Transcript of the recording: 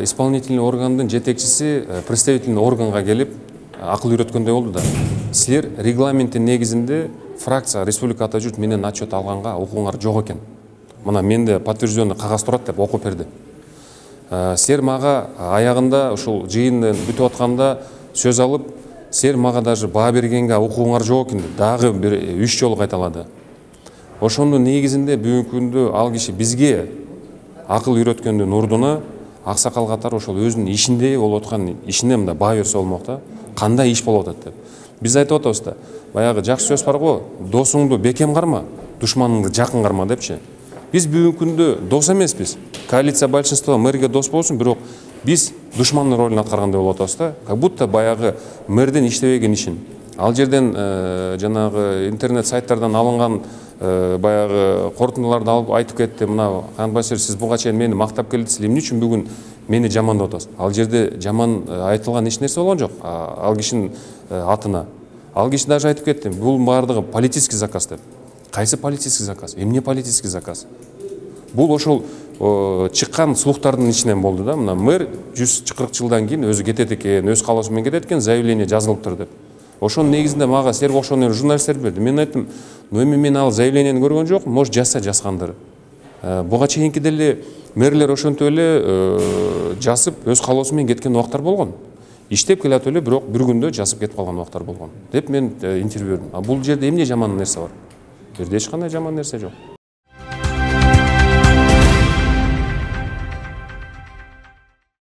исполнительный органдын жетекчиси представительный органга келип акыл үйрөткөндөй болду да. Силер регламенттин негизинде фракция республика ата журт менен отчет алганга укугуңар жок экен. Мына менде подтвержденный кагаз турат деп окуп берди. Силер мага аягында ушул жыйын бүтүп атканда сөз алып, силер мага даже баа бергенге укугуңар жок экен деп дагы бир 3 жолу кайталады. Ошондун негизинде бүгүнкү күндө ал киши бизге акыл үйрөткөндүн ордуна аксакал катары ошол өзүнүн ишинде болуп аткан ишине мындай баа берсе болмок да. Кандай иш болуп атат деп. Биз айтып атабыз да. Баягы жакшы сөз бар го, досуңду бекем карма, душманыңды жакын карма депчи. Биз бүгүнкү күндө дос эмеспиз. Коалиция большинство мэрге дос болсун, бирок биз душмандын ролун аткаргандай болуп атабыз да. Как будто баягы мэрдин иштебеген ишин, ал жерден жанагы интернет сайттардан алынган баягы корутундуларды алып айтып кетти. Мына Канбасир, сиз буга чейин мени мактап келдиңиз, эмне үчүн бүгүн мени жамандап атасыз? Ал жерде жаман айтылган эч нерсе болгон жок. Ал кишинин атына. Ал киши даже айтып кетти, бул баардыгы политический заказ деп. Кайсы политический заказ? Эмне политический заказ? Бул ошол чыккан слухтардын ичинен болду да. Мына мэр 140 жылдан кийин өзү кетет экен, өз каалоосу менен кетет экен, заявление жазылыптыр деп. Ошонун негизинде мага силерге окшогон журналисттер берди. Мен айттым, эми мен ал заявлениени көргөн жокмун, может жазгандыр. Буга чейинки деле мэрлер ошентип эле жазып, өз каалоосу менен кеткен убактар болгон. Иштеп келатып эле, бирок бир күндө жазып кетип калган убактар болгон деп мен интервью бердим. Бул жерде эмне жаман нерсе бар? Бул жерде эч кандай жаман нерсе жок.